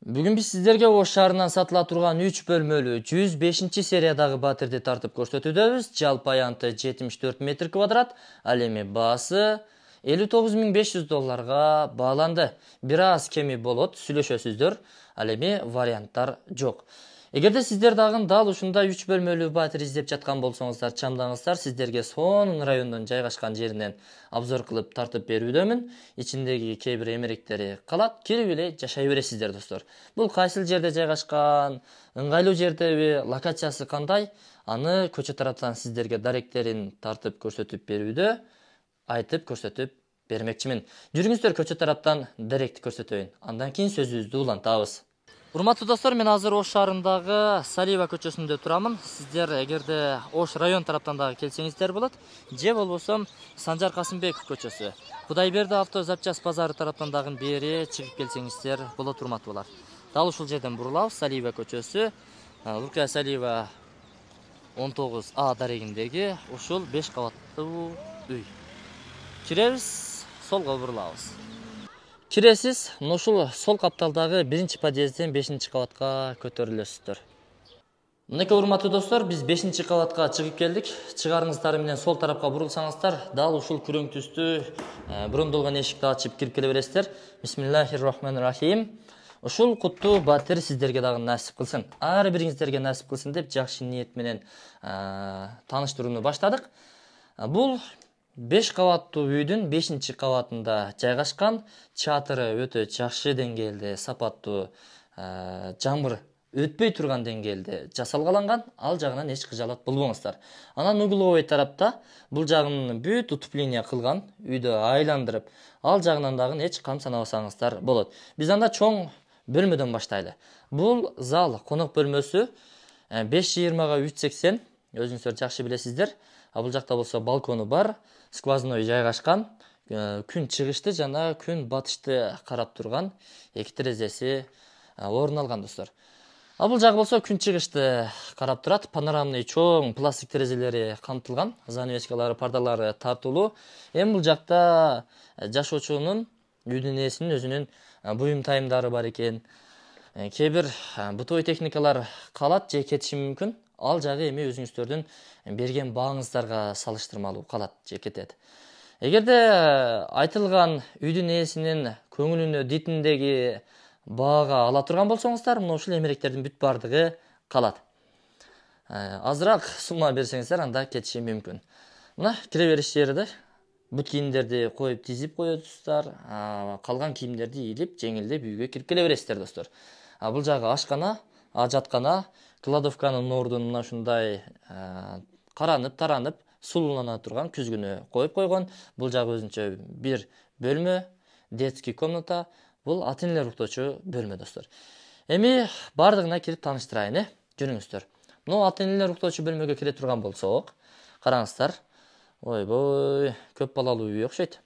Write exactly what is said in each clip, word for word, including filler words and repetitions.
Бүгүн биз сиздерге Ош шаарынан сатыла турган үч бөлмөлүү жүз бешинчи сериядагы батирди тартып көрсөтүүдөбүз. Жалпы аянты жетимиш төрт метр квадрат, ал эми баасы элүү тогуз миң беш жүз долларга бааланды. Бир аз кеми болот, сүйлөшөсүздөр, ал эми варианттар жок. Эгерде сиздер дагы дал ушундай үч бөлмөлүү батир издеп жаткан болсоңуздар, чамдаңыздар, сиздерге сонун райондон жайгашкан жеринен обзор кылып тартып берүүдөмүн. Ичиндеги кээ бир эмеректери калат, кирип эле жашай бересиздер достор. Бул кайсыл жерде жайгашкан, ыңгайлуу жердеби, локациясы кандай, аны көчө тараптан сиздерге даректерин тартып көрсөтүп берүүдө айтып көрсөтүп бермекчимин. Жүрүңүздөр көчө тараптан даректи көрсөтөйүн. Андан кийин сөзүбүздү улантабыз. Урматтуу достор, мен азыр Ош шаарындагы Салиева көчөсүндө турамын. Сиздер эгерде Ош район тараптан дагы келсеңиздер болот, же болбосо Санжар Касымбеков көчөсү, Кудайберди авто запчасть базары тараптан дагы бери чыгып келсеңиздер болот, урматтуулар. Дал ушул жерден бурулабыз. Салиева көчөсү, Лукая Салиева он тогуз А дарегиндеги ушул беш кабаттуу үй. Киребиз, солго бурулабыз. Киресиз, ушул сол капталдагы биринчи подъездден бешинчи кабатка көтөрүлөсүздөр. Мынакей урматтуу достор, биз бешинчи кабатка чыгып келдик. Чыгарыңыздар менен сол тарапка бурулсаңыздар, дал ушул күрөң түстүү брондолгон эшикти ачып кирип келе бересиздер. Бисмиллахир-рахманир-рахим. Ушул куттуу батир сиздерге дагы насип кылсын. Ар бириңиздерге насип кылсын деп жакшы ниет менен тааныштырууну баштадык. Бул беш кабаттуу үйдүн бешинчи кабатында жайгашкан, чатыры өтө жакшы деңгээлде, сапаттуу, жамгыр өтпөй турган деңгээлде жасалгаланган, ал жагынан эч кыжаалат болбоңуздар. Анан угловой тарапта бул жагын бүт утупление кылган, үйдү айландырып, ал жагынан дагы эч кам санабасаңыздар болот. Биз анда чоң бөлмөдөн баштайлы. Бул зал конок бөлмөсү беш жыйырмага үч сексен, өзүңүздөр жакшы билесиздер. Бул жакта болсо балкону бар, сквозной жайгашкан, күн чыгышты жана күн батышты карап турган эки терезеси орун алган достор. А бул жагы болсо күн чыгышты карап турат, панорамный чоң пластик терезелери камтылган, занавескалары, пардалары тартылуу. Эми бул жакта жашоочунун, үйдүн ээсинин өзүнүн буюм тайымдары бар экен. Кээ бир бытовой техникалар калат же кетиши мүмкүн. Ал жагы эми өзүңүздөрдүн берген бааңыздарга салыштырмалуу калат же кетет. Эгерде айтылган үйдүн ээсинин көңүлүнө дитиндеги баага ала турган болсоңуздар, мына ушул эмеректердин бүт бардыгы калат. Азыраак сумма берсеңиздер, анда кетиши мүмкүн. Мына кире бериш жери да. Бүт кийимдерди коюп тизип коесуздар, калган кийимдерди ийилип, жеңилдеп үйгө кирип келе бересиздер достор. Бул жагы ашкана, ажаткана, кладовканын ордун мына ушундай каранып, таранып, сулуулана турган күзгүнө коюп койгон. Бул жагы өзүнчө бир бөлмө, детский комната. Бул ата-энелер уктоочу бөлмө достор. Эми бардыгына кирип тааныштырайын, э? Жүрүңүздөр. Мына ата-энелер уктоочу бөлмөгө кире турган болсок, караңыздар. Ойбой, көп балалуу үй окшойт.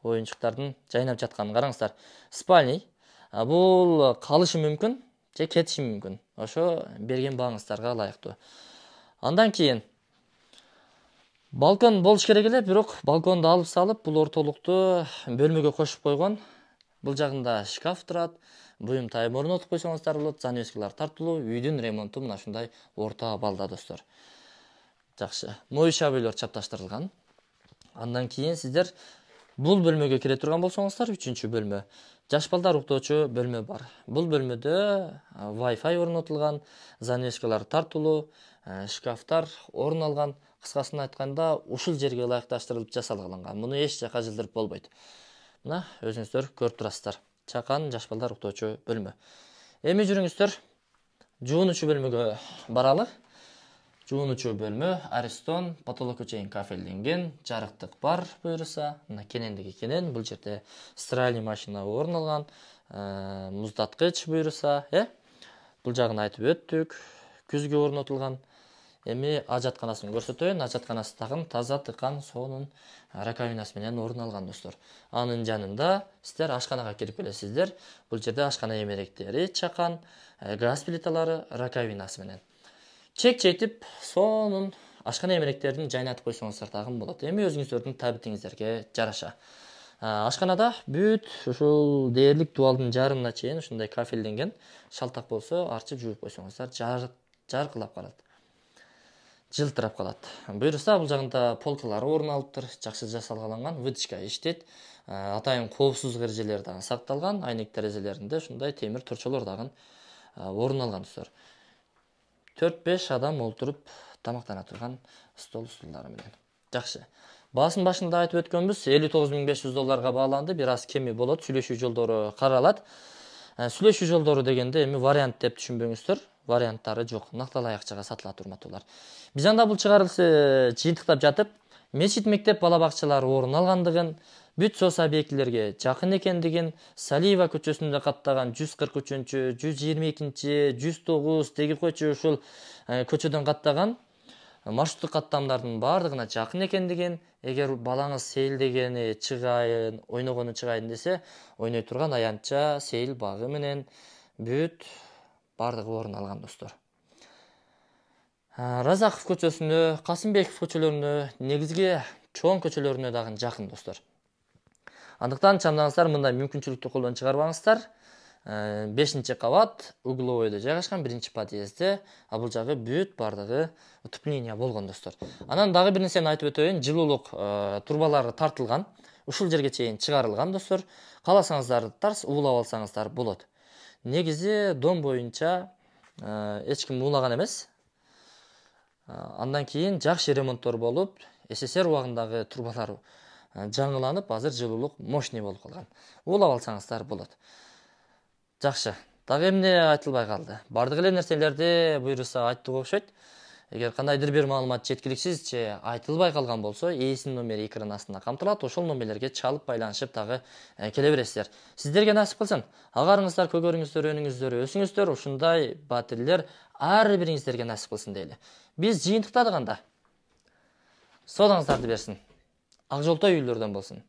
Оюнчуктардын жайнап жатканын караңыздар. Спальный. Бул калышы мүмкүн же кетиши мүмкүн. Ошо берген бааңыздарга ылайыктуу. Андан кийин балкон болуш керек эле, бирок балконду алып салып, бул ортолукту бөлмөгө кошуп койгон. Бул жагында шкаф турат, буюм тайым орнотуп койсоңуздар болот, занавескалар тартылуу, үйдүн ремонту мына ушундай орто абалда достор. Жакшы. Моюшабыйлар чапташтырылган. Андан кийин сиздер бул бөлмөгө кире турган болсоңуздар, үчүнчү бөлмө. Жаш балдар уктоочу бөлмө бар. Бул бөлмөдө Wi-Fi орнотулган, занавескалар тартылуу, шкафтар орун алган. Кыскасын айтканда, ушул жерге ылайыкташтырылып жасалган. Муну эч жака жылдырып болбойт. Мына өзүңүздөр көрүп турасыздар. Чакан жаш балдар уктоочу бөлмө. Эми жүрүңүздөр жуунуучу бөлмөгө баралы. Жуунуучу бөлмө Аристон, потолокко чейин кафелденген, жарыктык бар буюрса, мына кенендиги кенен, бул жерде стиральный машина орун алган, муздаткыч буюрса, э? Бул жагын айтып өттүк. Күзгү орнотулган. Эми ажатканасын көрсөтөйүн. Ажатканасы тагын таза, тыкан, сонун раковинасы менен орун алган достор. Анын жанында сиздер ашканага кирип келесиздер. Бул жерде ашкана эмеректери, чакан, газ плиталары, раковинасы менен. Чек-чейтип, сонун ашкана эмеректерин жайнатып койсоңуздар дагы болот. Эми өзүңүздөрдүн табитиңиздерге жараша. Ашканада бүт ушул дээрлик дубалдын жарымына чейин ушундай кафелденген. Шалтак болсо арчып жууп койсоңуздар жаркылап калат. Жылтырап калат. Буюрса бул жагында полкалары орун алыптыр, жакшы жасалгаланган, вытяжка иштейт. Атайын коопсуздук эрежелери дагы сакталган, айнек терезелеринде ушундай темир торчолор дагы орун алган достор. төрт беш адам олтуруп тамактана турган стол стулдары менен. Жакшы. Баасын башында айтып өткөнбүз, элүү тогуз миң беш жүз долларга бааланды, бир аз кеми болот, сүйлөшүү жолдору каралат. Сүйлөшүү жолдору дегенде эми вариант деп түшүнбөңүздөр, варианттары жок, накталай акчага сатылат урматтуулар. Бизанда бул чыгарылышы жыйынтыктап жатып, мечит, мектеп, бала бакчалары орун алгандыгын, бүт соц объектилерге жакын экендигин, Салиева көчөсүндө каттаган жүз кырк үчүнчү, жүз жыйырма экинчи, жүз тогуз деги койчу ушул көчөдөн каттаган маршруттук каттамдардын баардыгына жакын экендигин, эгер балаңыз сейилдегени чыгайын, ойногону чыгайын десе, ойной турган аянтча, сейил багы менен бүт баардыгы орун алган достор. Разаков көчөсүнө, Касымбеков көчөлөрүнө, негизги чоң көчөлөрүнө дагы жакын достор. Андыктан чамдаңыздар, мындай мүмкүнчүлүктү колдон чыгарбаңыздар. бешинчи кабат угловойдо жайгашкан, биринчи подъездде, а бул жагы бүт баардыгы утепление болгон достор. Анан дагы бир нерсени айтып өтөйүн, жылуулук турбалары тартылган, ушул жерге чейин чыгарылган достор. Кааласаңыздар тарс уулап алсаңыздар болот. Негизи дом боюнча эч ким уулаган эмес. Андан кийин жакшы ремонттор болуп, СССР убагындагы турбалар жаңыланып, азыр жылуулук мощный болуп калган. Уулап алсаңыздар болот. Жакшы. Дагы эмне айтылбай калды? Бардык эле нерселерди буйруса айттык окшойт. Эгер кандайдыр бир маалымат жеткиликсиз же айтылбай калган болсо, ээсинин номери экран астында камтылат. Ошол номерлерге чалып байланышып дагы келе бересиздер. Сиздерге насип кылсын. Агарыңыздар көгөрүңүздөр, өнүңүздөр, өсүңүздөр, ушундай батирлер ар бириңиздерге насип кылсын дейли. Биз жыйынтыктадык анда. Содаңыздарды берсин. Ак жолтой үйлөрдөн болсун.